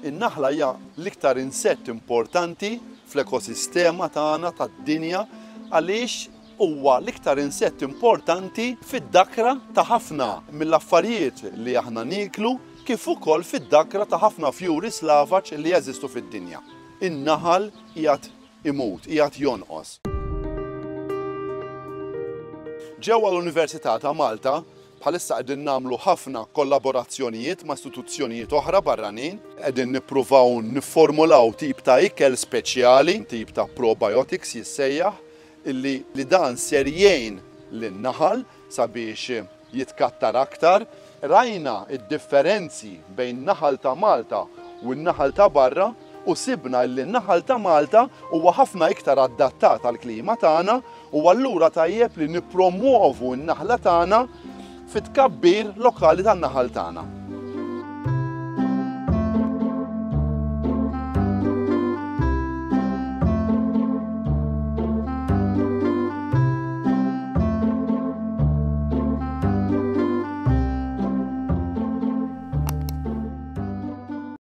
In-naħla hija l-iktar insett importanti fl-ekosistema tagħna tad-dinja għaliex huwa l-iktar insett importanti fid-dakra ta' ħafna mill-affarijiet li aħna nieklu kif ukoll fid-dakra ta' ħafna fjuri slavaġ li jeżistu fid-dinja. In-naħal qiegħed imut, qiegħed jonqos. Ġewwa l-Università ta' Malta bħalissa qegħdin nagħmlu ħafna kollaborazzjonijiet ma' istituzzjonijiet oħra barranin, qegħdin nippruvaw nifformulaw tip ta' ikel speċjali, tip ta' probiotics jissejjaħ, illi li dan ser jgħin lin-naħal sabiex jitkattar aktar. Rajna d-differenzi bejn naħal ta' Malta u n-naħal ta' barra u sibna illi n-naħal ta' Malta huwa ħafna iktar adattat għall-klima tagħna u allura tajjeb li nippromwovu n-naħla tagħna fit-tkabbir lokali tan-naħal tagħna.